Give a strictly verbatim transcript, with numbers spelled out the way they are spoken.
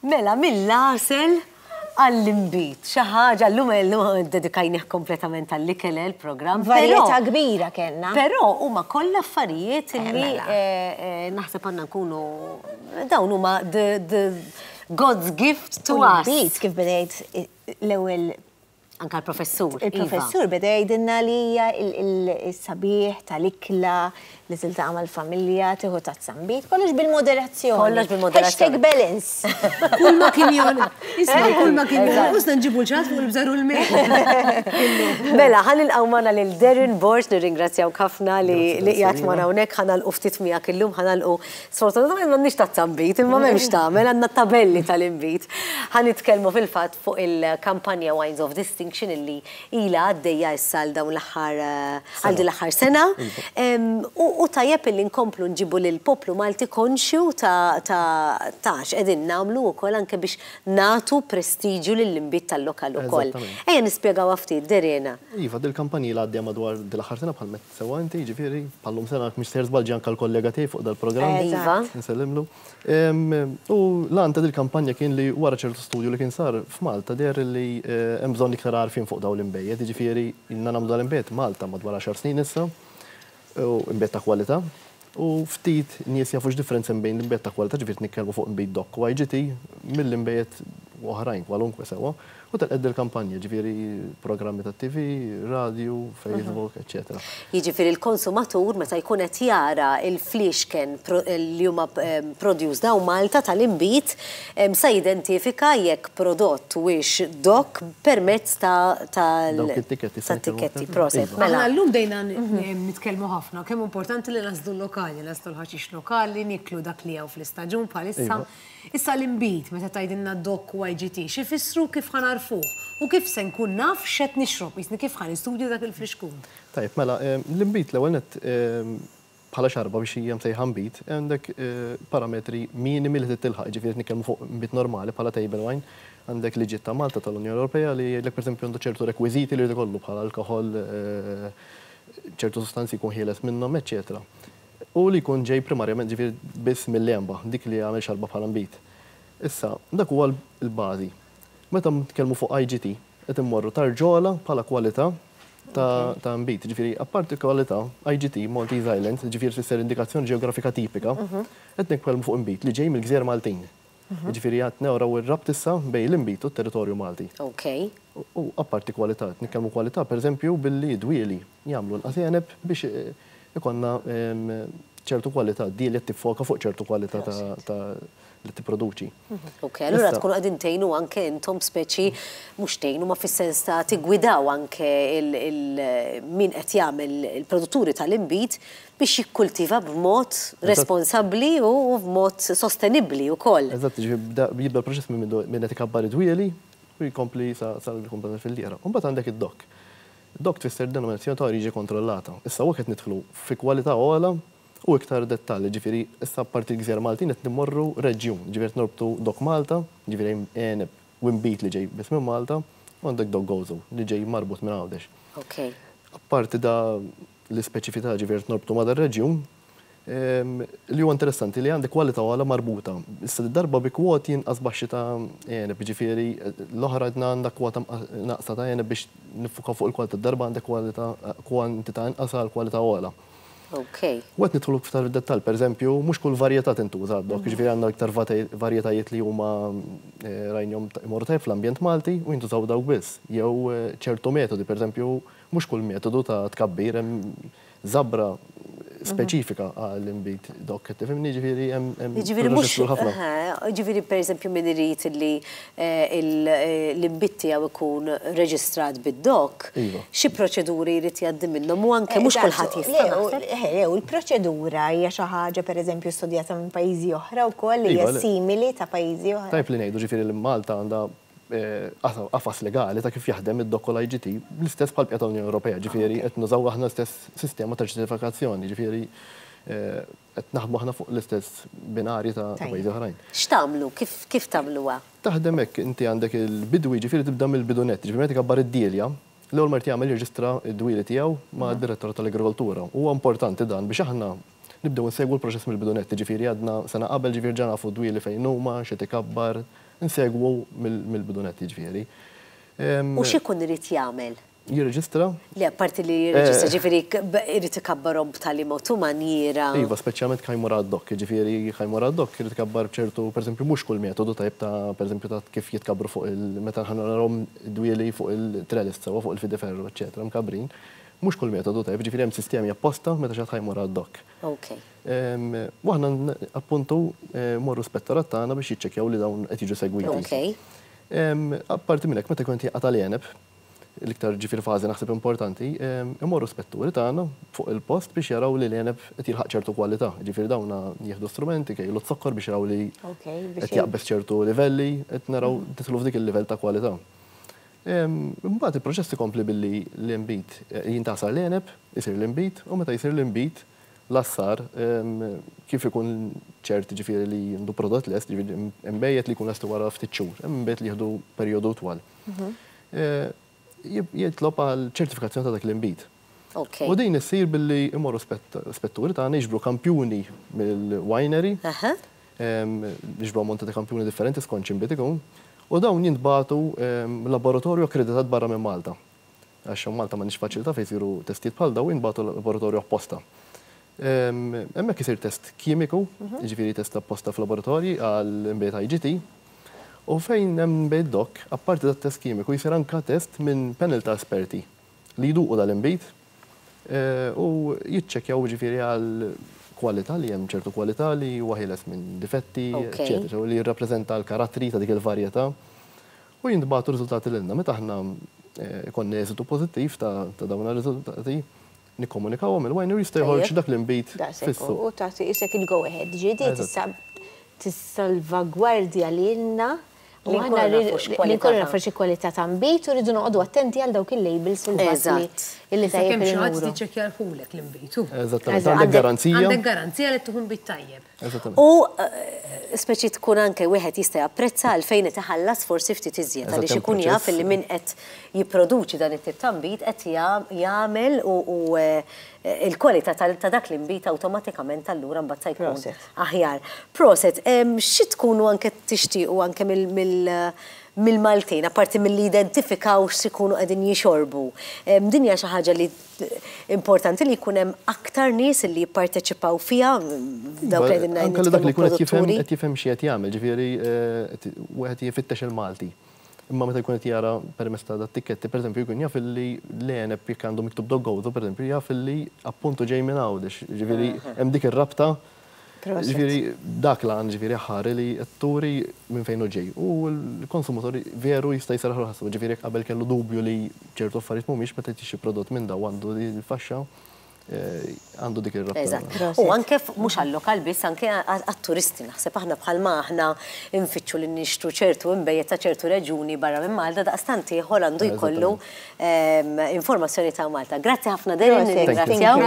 Mela, mill-għasel għall-imbit. Xi ħaġa llum llum dedikajnih kompletament għall-ikel il-programm. Varjetà kbira kellna. Però huma kollha affarijiet Eh, li mela. eh, eh, naħseb għandna nkunu dawn huma the, the God's gift to U us. l-imbit kif bdejt l-ewwel Anka l-professur. Iva. Il-professur beda jgħidilna li hija il-sabiħ tal-ikla li tiltaqa' mal-familja, tieħu tazza nbid, kollox bil-moderazzjoni. Kollox bil-moderazzjoni. Hashtag balance. Kull ma kien jon. Isma, kull ma kien jonqosna nġibu l-ċat fuq il-bżar u l-melħ. Mela, ħa nilqgħu magħna lil Darren Borg, nirringrazzjaw ħafna li Grazzi, li qiegħed grazzi, magħna hawnhekk, ħa nagħlqu ftit miegħek illum, ħa nagħlqu sfortunatament m'għandniex tazza nbid, imma m'hemmx tagħmel, għandna tabelli tal-inbid. Ħa nitkellmu fil-fatt fuq il-kampanja Wines of Distinction illi ilha għaddejja issa għal dawn l-aħħar għal din l-aħħar sena. Em, U u tajjeb illi nkomplu nġibu lil poplu Malti konxju ta' ta' ta' x'qegħdin nagħmlu wkoll anke biex nagħtu prestiġju lill-inbid tal-lokal ukoll. Eżattament. Ejja nispjegaw ftit, Darren. Iva, dil-kampanja li għaddejja madwar dil-aħħar sena bħal met sewa inti, ġifieri, bħallum sena mhux sejjer żball anke l-kollega tiegħi fuq dal-programm. Iva. Nsellimlu. Em, U l-għan ta' dil-kampanja kien li wara ċertu studju li kien sar f'Malta deher li eh, hemm bżonn iktar għarfien fuq dawn l-inbejjed, ġifieri ilna nagħmlu dal-inbejjed Malta madwar għaxar snin issa, u inbejjed ta' kwalità. U ftit nies jafu x'differenza bejn l-inbejjed ta' kwalità, ġifieri nitkellmu fuq inbejjed DOC u I G T mill-inbejjed oħrajn kwalunkwe sewwa. U telqed il-kampanja, ġifieri programmi ta' T V, radio, Facebook, eccetera. Jiġifieri l-konsumatur meta jkun qed jara il-fliexken pro- li huma em, produced hawn Malta tal-inbid em, sa jidentifika jekk prodott huwiex DOC permezz ta' tal Dawk it-tikketti ta' tikketti. se Proset. Iva. Mela, Aħna llum bdejna nitkellmu ħafna kemm importanti li nagħżlu lokali, nagħżlu l-ħaxix lokali, niklu dak li hawn fl-istaġun bħalissa. Iva. Issa l-imbid, meta tgħidilna DOC u I G T, x'ifissru, kif ħa nagħrfuh u kif se nkun naf x'qed nixrob, jisni kif ħa nistudja dak il-flixkun? Tajb, mela, em, l-imbit l-ewwel net em, bħala xarba biex hija msejħa nbid, għandek eh, parametri minimi li titilħaq, ġifieri nitkellmu fuq nbid normali bħala table wine, għandek liġijiet ta' Malta, tal-Unjoni Ewropea li jgħidlek, pereżempju, għandu ċertu rekwiżiti li jrid ikollu bħala alkohol, eh, ċertu sostanzi jkun ħieles minnhom, eċċetera. U li jkun ġej primarjament, ġifieri, biss mill-għenba, dik li għamel xarba bħala nbid. Issa, dak huwa l-bażi. Meta nitkellmu fuq I G T, qed immorru tarġa ogħla bħala kwalità ta' ta' nbid. Ġifieri, apparti kwalità, I G T, Maltese Islands, ġifieri tfisser indikazzjoni ġeografika tipika, qed nitkellmu fuq nbid li ġej mill-Gżejjer Maltin. Ġifieri qed naraw ir-rabta issa bejn l-inbid u t-territorju Malti. ok. U u apparti kwalità, nitkellmu kwalità pereżempju billi dwieli jagħmlu inqas għeneb biex eh, ikonna em, ċertu kwalità, di li tiffoka fuq ċertu kwalità ta' ta' li tipproduċi. Ok, allura Issa- tkunu qegħdin tgħinu anke intom, speċi mhux tgħinu ma fis-sens ta' tigwidaw anke il- il- min qed jagħmel il-produtturi tal-inbid biex jikkultiva b'mod responsabbli u b'mod sostenibbli wkoll. Eżatt, ġifieri bda- jibda l-proċess minn minn qed ikabbar id-dwieli u jkompli sa sal-komplet fil-liera. U mbagħad għandek id-DOC. DOC tfisser denominazzjoni ta' oriġi kontrollata. Issa waqt nidħlu fi kwalità ogħla u iktar dettalji, ġifieri issa parti l-Gżejjer Maltin qed nimmorru reġjun, ġifieri qed norbtu DOC Malta, ġifieri għeneb u nbid li ġej biss minn Malta, u għandek DOC Gozo li ġej marbut minn Għawdex. Ok. Apparti da l-ispeċifità, ġifieri norbtu ma' dar-reġjun, em, li huwa interessanti li għandek kwalità ogħla marbuta. Issa darba bi kwoti inqas baxxi ta' għeneb, ġifieri l-oħra għedna għandek kwota naqsa ta' għeneb biex niffuka fuq il-kwalità, darba għandek kwalità kwantità inqas għal kwalità ogħla. Ok. U qed nidħlu iktar fid-dettall, pereżempju, mhux kull varjetà tintuża DOC, ġifieri għandna iktar vate- varjetajiet li huma eh, rajnihom imorru tajjeb fl-ambjent Malti u jintużaw dawk biss. Jew eh, ċertu metodi, pereżempju, mhux kull metodu ta' tkabbir, hemm żabra speċifika għall-inbid DOC, tifhimni, ġifieri hemm hemm Ġifieri mhux, proċess ħafna. Ġifieri per eżempju min irid li eh, il- eh, l-inbid tiegħu ikun reġistrat bid-DOC, Iva. xi proċeduri jrid jgħaddi minnhom u anke mhux kulħadd jista' naħseb. Le, u l-proċedura hija xi ħaġa pereżempju studjata minn pajjiżi oħra wkoll li Iva, hija le. simili ta' pajjiżi oħra. Tajb li ngħidu ġifieri li Malta għandha eh, qafas legali ta' kif jaħdem id-DOC u l-I G T l-istess bħal bqija tal-Unjoni Ewropea, ġifieri qed nużaw aħna l-istess sistema ta' ċertifikazzjoni, ġifieri eh, qed naħdmu aħna fuq l-istess binari ta' ta' Tajjeb. pajjiżi oħrajn. X'tagħmlu? Kif kif tagħmluha? Taħdem hekk, inti għandek il-bidwi, ġifieri tibda mill-bidu nett, ġifieri meta kabbar id-dielja, l-ewwel ma jagħmel jirreġistra d-dwieli tiegħu ma' direttorat tal-Agrikoltura. Huwa importanti dan biex aħna nibdew nsegwu l-proċess mill-bidu nett, ġifieri għadna sena qabel, ġifieri ġa nafu dwieli fejn huma, xi tikabbar, Insegwu mill-bidu nett, jiġifieri. U x'ikun irid jagħmel? Jirreġistra? Le, apparti li jirreġistra, ġifieri irid ikabbarhom b'tali mod u manjiera. Iva, speċjalment ħa jmur għad-D O C, ġifieri ħa jmur għad-D O C irid ikabbar b'ċertu, pereżempju, mhux kull metodu tajb ta' pereżempju ta' kif jitkabru fuq il meta ħa narahom dwieli fuq il-trellis sewwa fuq il-fideferru, eċċetera, mkabbrin. Mhux kull metodu tajb, ġifieri hemm sistemi apposta meta xi ħadd ħa jmur għad-D O C. Ok. U aħna appuntu morru spettorat tagħna biex jiċċekkjaw li dawn qed jiġu segwiti. Ok. Apparti minn hekk, meta jkun qed jaqta' l-għeneb, l-iktar ġifieri fażi naħseb importanti, imorru spetturi tagħna fuq il-post biex jaraw li l-għeneb qed jilħaq ċertu kwalità. Ġifieri dawn jieħdu strumenti, kejlu z-zokkor biex jaraw li qed jaqbeż ċertu livelli, qed naraw tidħlu f'dik il-livell ta' kwalità. Imbagħad il-proċess ikompli billi l-inbid jintasar l-għeneb, isir l-inbid, u meta jsir l-inbid l-assar kif ikun ċert ġifieri li għandu prodott lest, ġifieri imbejjed li jkun lest wara ftit xhur, imbejjed li jieħdu perjodu twal. Jitlob għal ċertifikazzjoni ta' dak l-inbid. U din issir billi imorru spetturi tagħna jiġbru kampjuni mill-winery, jiġbru ammonti ta' kampjuni differenti skont x'inbid ikun, u dawn jintbagħtu laboratorju akkreditat barra minn Malta. Għax Malta m'għandniex faċilità fejn isiru testijiet bħal dawn, jintbagħtu laboratorju apposta. Hemmhekk isir test kimiku, jiġifieri test apposta f'laboratorji għal inbejjed I G T, u fejn hemm inbejjed D O C, apparti dat test kimiku jsir anka test minn panel ta' esperti li jduqu dal-inbid u jiċċekkjaw ġifieri għal kwalità li hemm ċertu kwalità li huwa ħieles minn difetti, eċċetera, u li jirrappreżenta l-karattri ta' dik il-varjetà. U jintbagħtu riżultati lilna. Meta aħna konna eżitu pożittiv ta' dawn ir-riżultati, nikkomunikawhom il-winery jista' joħorġ dak l-inbid fis-suq. U tagħti isek il-go ahead, ġiedi tissalvagwardja lilna u aħna li nkunu nafu xi kwalità ta' nbid u rridu noqogħdu attenti għal dawk il-labels fil-fatt li tajjeb Kemm xi ħadd tiċċekkja lħulek l-inbid. Eżattament, għandek garanzija. Għandek garanzija li tieħu nbid tajjeb. U speċi tkun anke wieħed jista' japprezza għalfejn qed iħallas forsi ftit iżjed għaliex ikun jaf li min qed jipproduċi dan it-tip ta' nbid qed jagħmel u il-kwalità ta' dak l-inbid awtomatikament allura mbagħad se jkun aħjar. Proset, xi tkunu anke tixtiequ anke mill-Maltin, apparti milli identifikaw x'ikunu qegħdin jixorbu. Din hija xi ħaġa li importanti li jkun hemm aktar nies li jipparteċipaw fiha dawk li qegħdin Anke dak li jkun qed jifhem qed jifhem xi qed jagħmel, ġifieri wieħed jifittex il-Malti. Imma meta jkun qed jara permezz ta' dat-tikketti, pereżempju, jkun jaf li l-għeneb jekk għandu miktub D O C Gozo, pereżempju, jaf li appuntu ġej minn Għawdex, ġifieri hemm dik ir-rabta. Ġifieri dak l-għan ġifieri ħari li turi minn fejn hu ġej. U l-konsumatori veru jista' jsarraħ rasu, ġifieri jekk qabel kellu dubju li ċertu affarijiet mhumiex meta tixtri prodott minn daw għandu l-faxxa għandu dik ir-rabta. Eżatt. U anke mhux għal-lokal biss, anke għat-turisti naħseb aħna bħalma aħna nfittxu li nixtru ċertu inbejjed ta' ċertu reġuni barra minn Malta, daqstant ieħor għandu jkollu informazzjoni ta' Malta. Grazzi ħafna Darren, nirringrazzjaw.